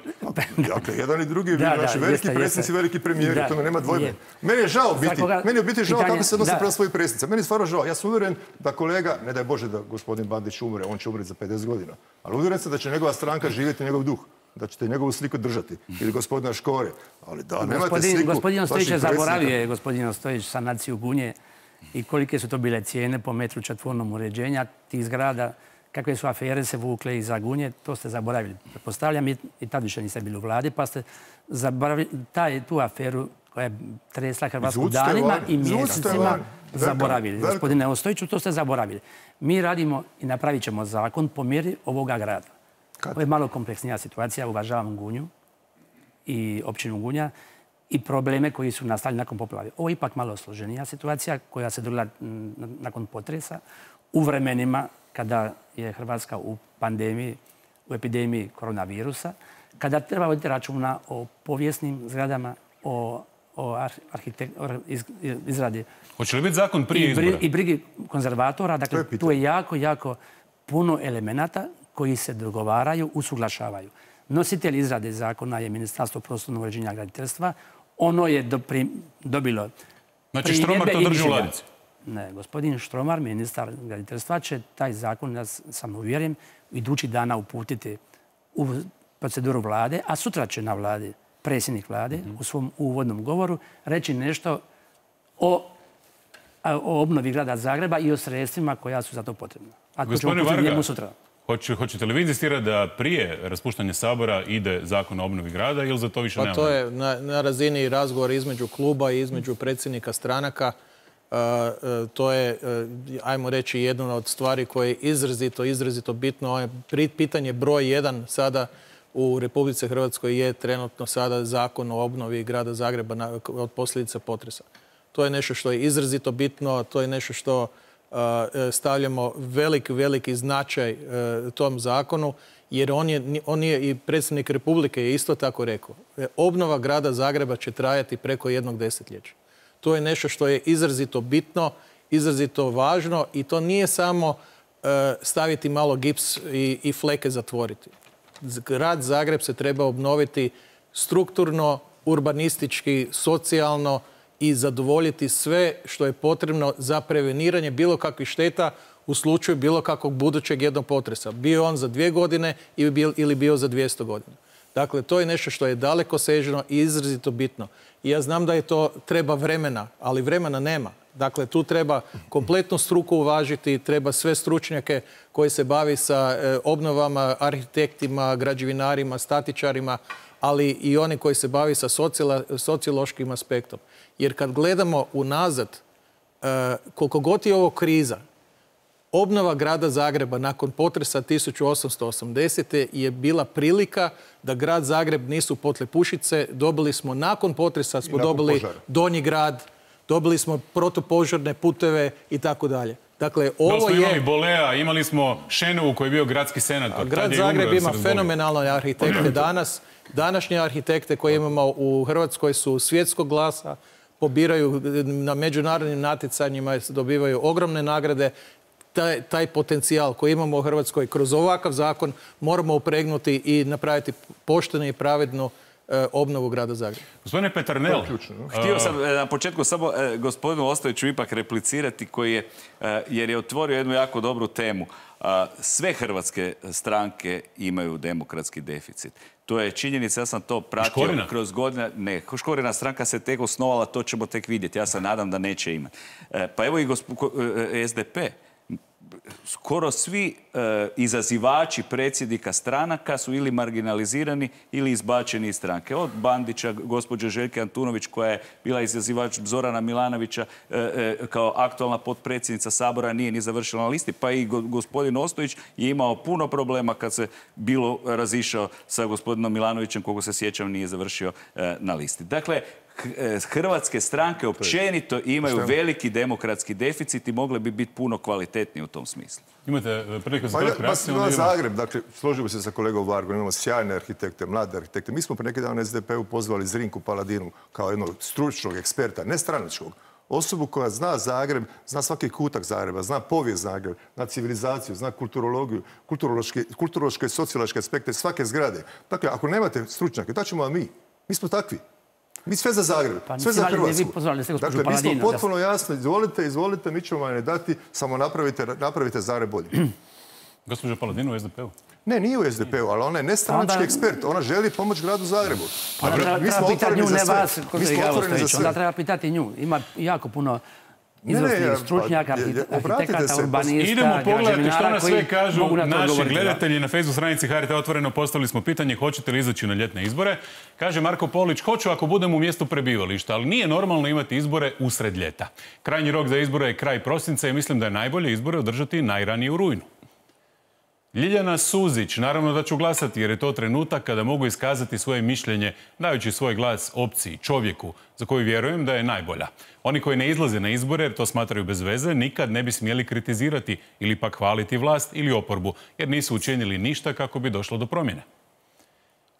Dakle, jedan i drugi bili naši veliki predsjednici, veliki premijeri. To nema dvojbe. Meni je žao biti. Meni je biti žao kako se odnosi prema svojih predsjednica. Meni je stvarno žao. Ja sam uvjeren da kolega, ne daj Bože da gospodin Bandić umre, on će umreti za pedeset godina. Ali uvjeren sam da će njegova stranka živjeti njegov duh. Da ćete njegovu sliku držati. Ili gospodina Škore. Ali da, nemate sliku... Gospodin Ostojić je zaboravio je, gospodin Ostojić, sanaciju Gunje i kolike su to bile cijene po metru četvornom uređenja tih zgrada, kakve su afere se vukle iza Gunje, to ste zaboravili. Pretpostavljam i tad više niste bili u vladi, pa ste zaboravili tu aferu koja je tresla Hrvatsku danima i mjesecima zaboravili. Gospodine Ostojiću, to ste zaboravili. Mi radimo i napravit ćemo zakon po mjeri ovoga grada. Ovo je malo kompleksnija situacija, uvažavam Gunju i općinu Gunja i probleme koji su nastali nakon poplave. Ovo je ipak malo složenija situacija koja se dogodila nakon potresa u vremenima kada je Hrvatska u pandemiji, u epidemiji koronavirusa, kada treba voditi računa o povijesnim zgradama, o, o izradi... Hoće li biti zakon prije izbora? I brigi konzervatora. Dakle, tu je jako, jako puno elemenata koji se dogovaraju, usuglašavaju. Nositelj izrade zakona je Ministarstvo prostornog uređenja i graditeljstva. Ono je dobilo... Znači Štromar to drži u ladici? Ne, gospodin Štromar, ministar graditeljstva, će taj zakon, ja sam uvjeren, idući dana uputiti u proceduru vlade, a sutra će na vladi predsjednik vlade u svom uvodnom govoru reći nešto o o obnovi grada Zagreba i o sredstvima koja su za to potrebna. A to ćemo uputiti njemu sutra. Hoćete li vi insistirati da prije raspuštanja Sabora ide zakon o obnovi grada ili za to više nema? Pa to je na razini razgovora između kluba i između predsjednika stranaka. To je, ajmo reći, jedna od stvari koje je izrazito, izrazito bitno. Pitanje broj jedan sada u Republici Hrvatskoj je trenutno sada zakon o obnovi grada Zagreba od posljedica potresa. To je nešto što je izrazito bitno, to je nešto što stavljamo veliki, veliki značaj tom zakonu, jer on je, on je i predsjednik Republike je isto tako rekao. Obnova grada Zagreba će trajati preko jednog desetljeća. To je nešto što je izrazito bitno, izrazito važno i to nije samo staviti malo gips i, i fleke zatvoriti. Grad Zagreb se treba obnoviti strukturno, urbanistički, socijalno i zadovoljiti sve što je potrebno za preveniranje bilo kakvih šteta u slučaju bilo kakvog budućeg jednog potresa. Bio on za dvije godine ili bio za dvjesto godina. Dakle, to je nešto što je dalekosežno i izrazito bitno. I ja znam da je to treba vremena, ali vremena nema. Dakle, tu treba kompletnu struku uvažiti, treba sve stručnjake koji se bavi sa obnovama, arhitektima, građevinarima, statičarima, ali i oni koji se bavi sa sociološkim aspektom. Jer kad gledamo unazad, koliko god je ovo kriza, obnova grada Zagreba nakon potresa tisuću osamsto osamdesete je bila prilika da grad Zagreb nisu potlepušice. Dobili smo nakon potresa, smo dobili Donji grad, dobili smo protupožarne puteve i tako dalje. Dakle, ovo smo je... imali Bolea, imali smo Šenovu koji je bio gradski senator. Grad Zagreb ima fenomenalne arhitekte danas. Današnje arhitekte koje imamo u Hrvatskoj su svjetskog glasa, pobiraju na međunarodnim natjecanjima, dobivaju ogromne nagrade. Taj, taj potencijal koji imamo u Hrvatskoj kroz ovakav zakon moramo upregnuti i napraviti poštenu i pravednu e, obnovu grada Zagreba. Gospodine Peternel, htio sam na početku samo e, gospodinu Ostojiću ipak replicirati koji je, e, jer je otvorio jednu jako dobru temu. E, sve hrvatske stranke imaju demokratski deficit. To je činjenica, ja sam to pratio Škorina? kroz godine. Ne, Škorina stranka se tek osnovala, to ćemo tek vidjeti. Ja se nadam da neće imati. E, pa evo i gospo, e, S D P. Skoro svi e, izazivači predsjednika stranaka su ili marginalizirani ili izbačeni iz stranke. Od Bandića, gospođe Željke Antunović koja je bila izazivač Zorana Milanovića e, e, kao aktualna potpredsjednica Sabora, nije ni završila na listi. Pa i go, gospodin Ostojić je imao puno problema kad se bilo razišao sa gospodinom Milanovićem, koliko se sjećam nije završio e, na listi. Dakle, hrvatske stranke općenito imaju veliki demokratski deficit i mogle bi biti puno kvalitetnije u tom smislu. Imate priliku za kratku reakciju? Pa Zagreb, dakle, složimo se sa kolegom Vargom, imamo sjajne arhitekte, mlade arhitekte. Mi smo pre neki dan S D P-u pozvali Zrinku Paladinu kao jednog stručnog eksperta, ne stranačkog, osobu koja zna Zagreb, zna svaki kutak Zagreba, zna povijest Zagreba, zna civilizaciju, zna kulturologiju, kulturološke i sociološke aspekte svake zgrade. Dakle, ako nemate stručnjake, da ćemo vam mi. Mi smo takvi. Mi sve za Zagreb, pa, sve za Hrvatsku. Dakle, mi smo potpuno jasni. Izvolite, izvolite, mi ćemo vam ne dati, samo napravite, napravite Zagreb bolje. Gospođa Paladin u S D P-u? Ne, nije u S D P-u, ali ona je nestranački onda... ekspert. Ona želi pomoć gradu Zagrebu. Pa, treba, mi smo otvoreni nju, za sve. Vas, mi smo otvoreni za sve. Onda treba pitati nju. Ima jako puno izvrsnih stručnjaka, arhitekata, urbanista, idemo pogledati što nas sve kažu naši gledatelji na Facebook stranici H R T Otvoreno. Postavili smo pitanje hoćete li izaći na ljetne izbore. Kaže Marko Polić, hoću ako budem u mjestu prebivališta, ali nije normalno imati izbore usred ljeta. Krajnji rok za izbore je kraj prosinca i mislim da je najbolje izbore održati najranije u rujnu. Ljiljana Suzić, naravno da ću glasati jer je to trenutak kada mogu iskazati svoje mišljenje dajući svoj glas opciji, čovjeku za koju vjerujem da je najbolja. Oni koji ne izlaze na izbore jer to smatraju bez veze nikad ne bi smjeli kritizirati ili pak hvaliti vlast ili oporbu jer nisu učinili ništa kako bi došlo do promjene.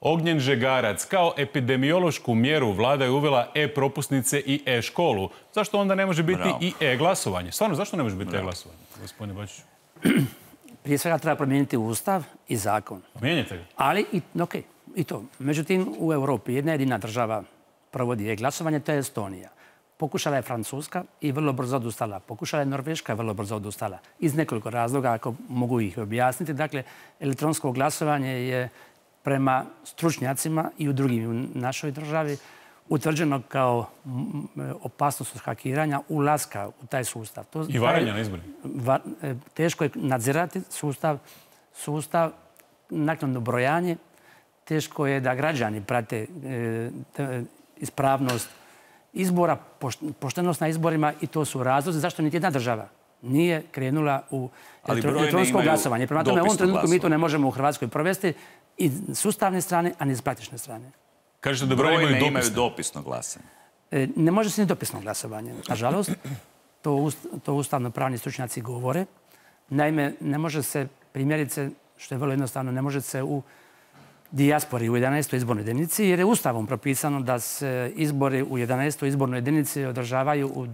Ognjen Žegarac, kao epidemiološku mjeru vlada je uvela e-propusnice i e-školu. Zašto onda ne može biti Bravo. i e-glasovanje? Stvarno, zašto ne može biti Bravo. e-glasovanje, gospodine Bačiću? Prije svega treba promijeniti ustav i zakon. Mijenjate ga? Ali, i, ok, i to. Međutim, u Europi jedna jedina država provodi e-glasovanje, to je Estonija. Pokušala je Francuska i vrlo brzo odustala. Pokušala je Norveška i vrlo brzo odustala. Iz nekoliko razloga, ako mogu ih objasniti. Dakle, elektronsko glasovanje je prema stručnjacima i u drugim u našoj državi utvrđeno kao opasnost od hakiranja ulaska u taj sustav. To, I varanja na izborima. Va, teško je nadzirati sustav, sustav naknadno brojanje. Teško je da građani prate e, te, ispravnost izbora, poštenost na izborima i to su razlozi zašto niti jedna država nije krenula u elektronsko glasovanje. Prema tome, u ovom trenutku mi to ne možemo u Hrvatskoj provesti i s ustavne strane, a ni s praktične strane. Kažete da brojne imaju dopisno glasanje. Ne može se ni dopisno glasovanje, nažalost. to, to ustavno-pravni stručnjaci govore. Naime, ne može se, primjerice, što je vrlo jednostavno, ne može se u dijaspori u jedanaestoj izbornoj jedinici, jer je ustavom propisano da se izbori u jedanaestoj izbornoj jedinici održavaju u,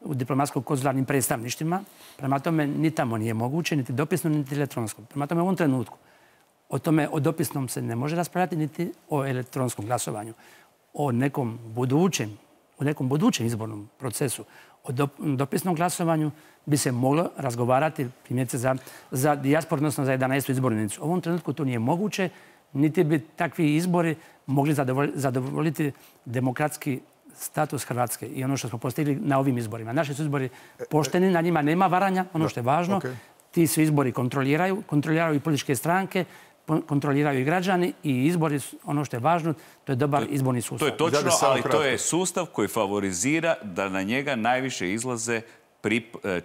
u diplomatsko-konzularnim predstavništvima. Prema tome, ni tamo nije moguće, niti dopisno, niti elektronsko. Prema tome, u ovom trenutku o tome, o dopisnom se ne može raspravljati, niti o elektronskom glasovanju. O nekom budućem, u nekom budućem izbornom procesu, o dopisnom glasovanju bi se moglo razgovarati, primjerice, za, za dijasporu, odnosno za jedanaestu izbornu jedinicu. U ovom trenutku to nije moguće, niti bi takvi izbori mogli zadovoljiti demokratski status Hrvatske i ono što smo postigli na ovim izborima. Naši su izbori pošteni, na njima nema varanja, ono što je važno. Okay. Ti su izbori kontroliraju, kontroliraju i političke stranke, kontroliraju i građani i izbori, ono što je važno, to je dobar izborni sustav. To je točno, ali to je sustav koji favorizira da na njega najviše izlaze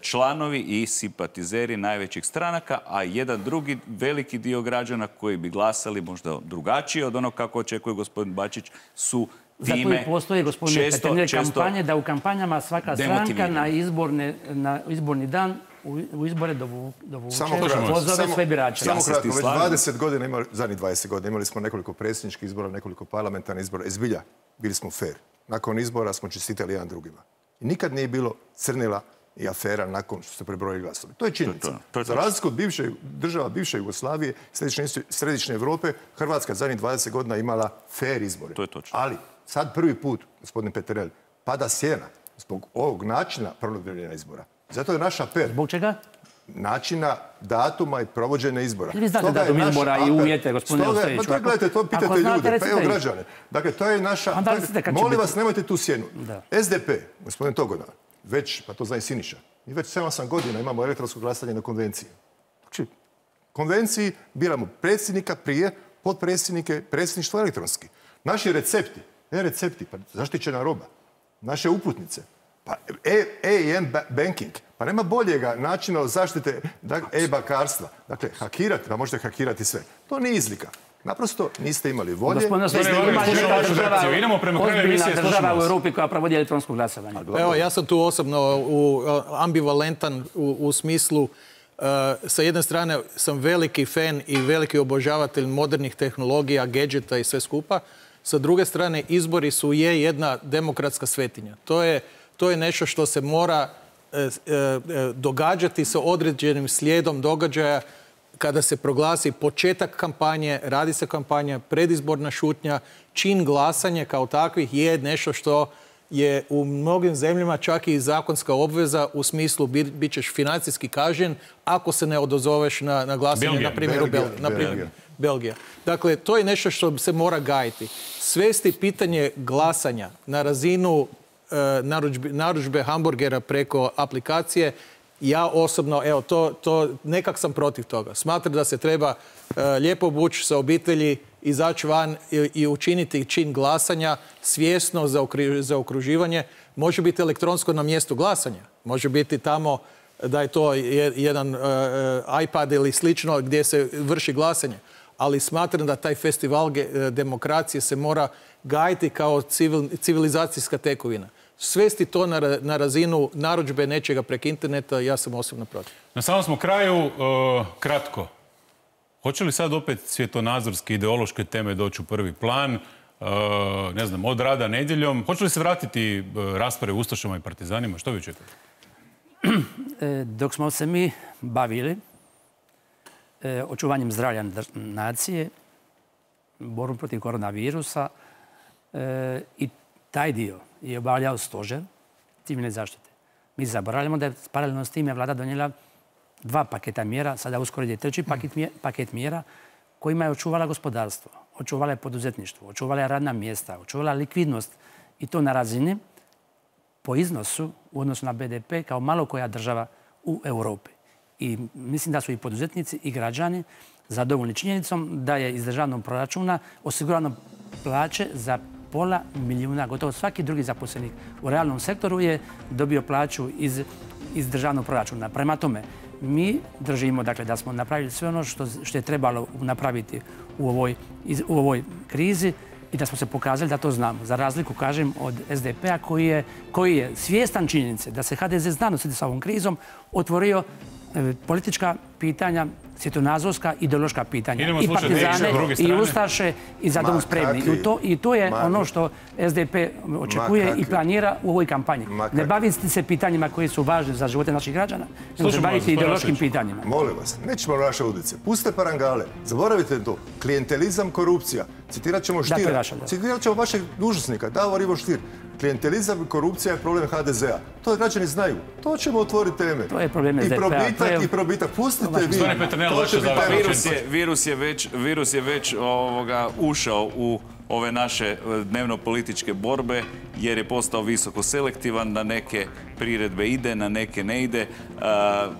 članovi i simpatizeri najvećih stranaka, a jedan drugi veliki dio građana koji bi glasali možda drugačije od onog kako očekuje gospodin Bačić su time zato i postoje, gospodine Peternel, kampanje da u kampanjama svaka stranka na, izborne, na izborni dan u, u izbore dovuče pozove sve birače. Samo kratko, već dvadeset godina, imali, zadnjih dvadeset godina imali smo nekoliko predsjedničkih izbora, nekoliko parlamentarnih izbora. Izbilja, bili smo fair. Nakon izbora smo čestitali jedan drugima. I nikad nije bilo crnila i afera nakon što se prebrojili glasovi. To je činjenica. Za razliku od bivše, država bivše Jugoslavije, središnje, središnje Evrope, Hrvatska zadnjih dvadeset godina imala fair izbore. To je točno. Ali sad prvi put, gospodin Peternel, pada sjena zbog ovog načina provođenja izbora. Zato je naš apel. Zbog čega? Načina, datuma i provođenja izbora. Vi znate datum izbora i uvjete, gospodine Ostojiću. Pa to gledajte, to pitate ljude, pa evo građane. Dakle, to je naša... Molim vas, nemojte tu sjenu. S D P, gospodin Togodan, već, pa to zna i Siniša, mi već sedam osam godina imamo elektronsko glasanje na konvenciji. Znači, konvenciji biramo predsjednika prije, potpredsjednike, predsjedništvo elektronski. Naši recepti, e-recepti, pa zaštićena roba, naše uputnice, pa E I M banking, pa nema boljega načina zaštite e-bankarstva. Dakle, hakirati, pa možete hakirati sve. To nije izlika. Naprosto niste imali volje. Idemo prema kraju emisije. Ozbiljna država u Europi koja provodi elektronsko glasovanje. Evo, ja sam tu osobno u, ambivalentan u, u smislu uh, sa jedne strane sam veliki fan i veliki obožavatelj modernih tehnologija, gadgeta i sve skupa. Sa druge strane, izbori su je jedna demokratska svetinja. To je, to je nešto što se mora uh, uh, događati sa određenim slijedom događaja. Kada se proglasi početak kampanje, radi se kampanja, predizborna šutnja, čin glasanje kao takvih je nešto što je u mnogim zemljama čak i zakonska obveza u smislu bit, bit ćeš financijski kažnjen ako se ne odozoveš na, na glasanje, Belgija. na primjer u Belgiji. Na primjer, Belgija. Dakle, to je nešto što se mora gajiti. Svesti pitanje glasanja na razinu uh, narudžbe, narudžbe hamburgera preko aplikacije. Ja osobno, evo, to, to, nekak sam protiv toga. Smatram da se treba uh, lijepo obući sa obitelji, izaći van i, i učiniti čin glasanja svjesno za, okri, za okruživanje. Može biti elektronsko na mjestu glasanja. Može biti tamo da je to jedan uh, iPad ili slično gdje se vrši glasanje. Ali smatram da taj festival demokracije se mora gajiti kao civil, civilizacijska tekovina. Svesti to na, na razinu narudžbe nečega preko interneta, ja sam osobno protiv. Na samom smo kraju, uh, kratko. Hoće li sad opet svjetonazorske, ideološke teme doći u prvi plan? Uh, ne znam, od rada nedjeljom. Hoće li se vratiti uh, rasprave u Ustašama i partizanima? Što vi očekujete? Dok smo se mi bavili e, očuvanjem zdravlja nacije, borbom protiv koronavirusa e, i taj dio je obavljao stožer civilne zaštite. Mi zaboravljamo da je paralelno s time vlada donijela dva paketa mjera, sada uskoro ide treći paket, paket mjera kojima je očuvala gospodarstvo, očuvala je poduzetništvo, očuvala je radna mjesta, očuvala likvidnost i to na razini po iznosu u odnosu na B D P kao malo koja država u Europi. I mislim da su i poduzetnici i građani zadovoljni činjenicom da je iz državnog proračuna osigurano plaće za pola milijuna, gotovo svaki drugi zaposlenik u realnom sektoru je dobio plaću iz, iz državnog proračuna. Prema tome, mi držimo dakle, da smo napravili sve ono što, što je trebalo napraviti u ovoj, iz, u ovoj krizi i da smo se pokazali da to znamo. Za razliku, kažem, od S D P-a koji je, koji je svjestan činjenice da se H D Z zna nositi sa ovom krizom, otvorio e, politička pitanja, svjetonazorska, ideološka pitanja. Idemo I partizane, i ustaše, i za dom spremni. I to, I to je ono što S D P očekuje i planira u ovoj kampanji. Ne baviti se pitanjima koji su važni za živote naših građana, nego se baviti ideološkim pitanjima. Molim vas, nećemo naše ulice. Puste parangale. Zaboravite to. Klijentelizam, korupcija. Citirat ćemo Štira. Citirat ćemo vašeg dužnosnika, Davor Ivo Stier. Klijentelizam i korupcija je problem H D Z-a. To građani znaju. To ćemo otvoriti teme. To je problem S D P-a. I probitak, i probitak. Pustite vi. Virus je, virus je već, virus je već ovoga, ušao u ove naše dnevno-političke borbe jer je postao visoko selektivan, na neke priredbe ide, na neke ne ide. E,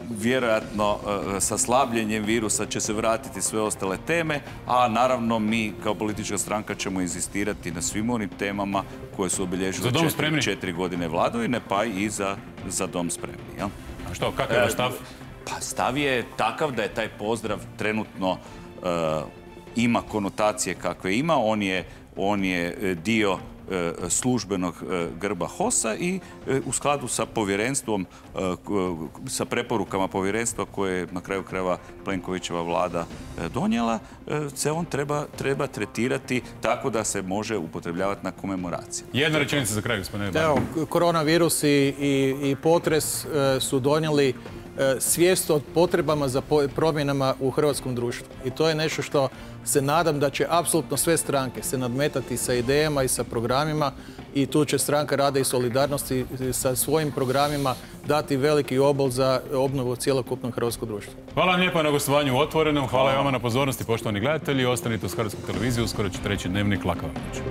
vjerojatno e, sa slabljenjem virusa će se vratiti sve ostale teme, a naravno mi kao politička stranka ćemo inzistirati na svim onim temama koje su obilježile četiri, četiri godine vladavine, pa i za, za dom spremni. Jel? A što, kakav je vaš stav? Pa stav je takav da je taj pozdrav trenutno e, ima konotacije kakve ima. On je, on je dio e, službenog e, grba H O S-a i e, u skladu sa povjerenstvom, e, sa preporukama povjerenstva koje je na kraju krajeva Plenkovićeva vlada e, donijela, e, se on treba, treba tretirati tako da se može upotrebljavati na komemoraciji. Jedna rečenica za kraj, gospodine. Evo, koronavirus i, i, i potres e, su donijeli svijest o potrebama za promjenama u hrvatskom društvu. I to je nešto što se nadam da će apsolutno sve stranke se nadmetati sa idejama i sa programima i tu će Stranka rada i solidarnosti sa svojim programima dati veliki obol za obnovu cjelokupnog hrvatskog društva. Hvala vam lijepo na gostovanju u Otvorenom. Hvala i vama na pozornosti, poštovani gledatelji. Ostanite uz Hrvatsku televiziju, uskoro ćete reći Dnevnik Laka vam noć.